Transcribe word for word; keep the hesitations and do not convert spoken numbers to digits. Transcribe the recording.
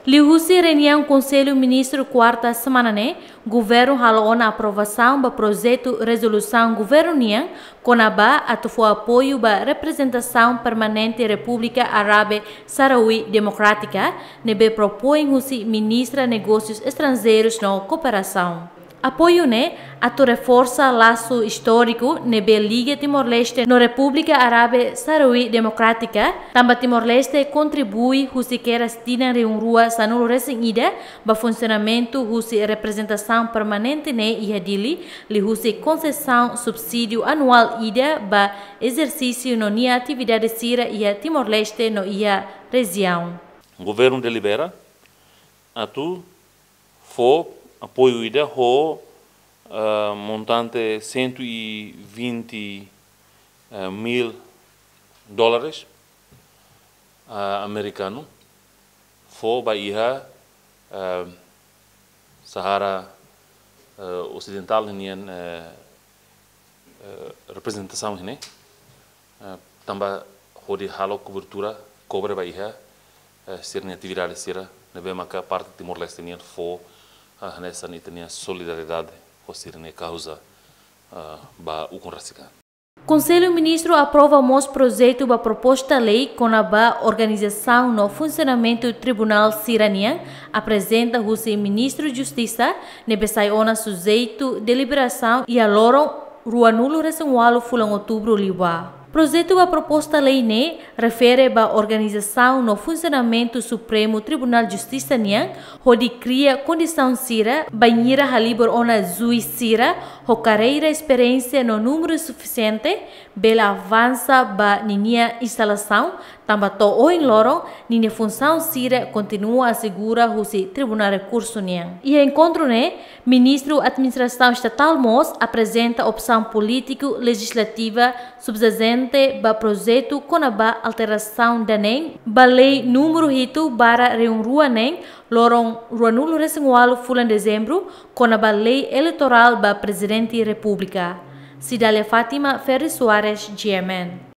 Liuhusi reuniaun Konsellu Ministru kuarta semana ne'e, governu halo ona aprovasaun ba projetu rezolusaun governu nian kona-ba atu fó apoiu ba reprezentasaun permanente Repúblika Árabe Sahrawi Demokrátika, ne'ebé propoin husi Ministra Negósius Estranjeirus no Kooperasaun. Apoiu ne'e atu reforsa lasu istóriku ne'ebé liga Timor-Leste no Repúblika Árabe Sahrawi Demokrátika, tanba Timor-Leste kontribui husi kedas tinan rihun rua sanulu resin ida ba funsionamentu husi reprezentasaun permanente ne'e iha Dili, liuhusi konsesaun subsídiu anuál ida ba ezersísiu no nia atividade sira iha Timor-Leste no iha rejiaun. Governu delibera atu fó apoiu ida ho, ah, montante cento e vinte, eh, mil dólares, ah, amerikanu, fó ba iha, eh, Saara, eh, Osidentál nian, eh, eh, reprezentasaun ne'e, eh, tanba hodi halo kobertura, kobre ba iha, eh, sira-nia atividade sira, ne'ebé maka parte Timor-Leste nian fó, eh, hanesan ita-nia solidariedade ho sira-nia kauza, eh, ba ukun rasik an. Konsellu Ministru aprova mós projetu ba proposta lei kona-ba organizasaun no funsionamentu tribunál sira nian, aprezenta husi Ministru Justisa, ne'ebé sai ona sujeitu deliberasaun iha loron ruanulu resin ualu fulan Outubru liubá. Projetu ba proposta lei ne'e refere ba organizasaun no funsionamentu Supremu Tribunál Justisa nian, hodi kria kondisaun sira bainhira halibur ona juís sira ho karreira, esperiénsia no númeru sufisiente, bele avansa ba ninia instalasaun, tanba to'o ohin loron ninia funsaun sira kontinua asegura husi Tribunál Rekursu nian. Iha enkontru ne'e, Ministru Administrasaun Estatál mós aprezenta opsaun polítiku lejislativa subjazente ba projetu kona-ba alterasaun danein ba lei númeru hitu barra rihun rua neen, loron ruanulu resin ualu fulan Dezembru, kona-ba lei eleitorál ba Prezidente Repúblika. Cidália Fátima, Ferri Soares, G M N.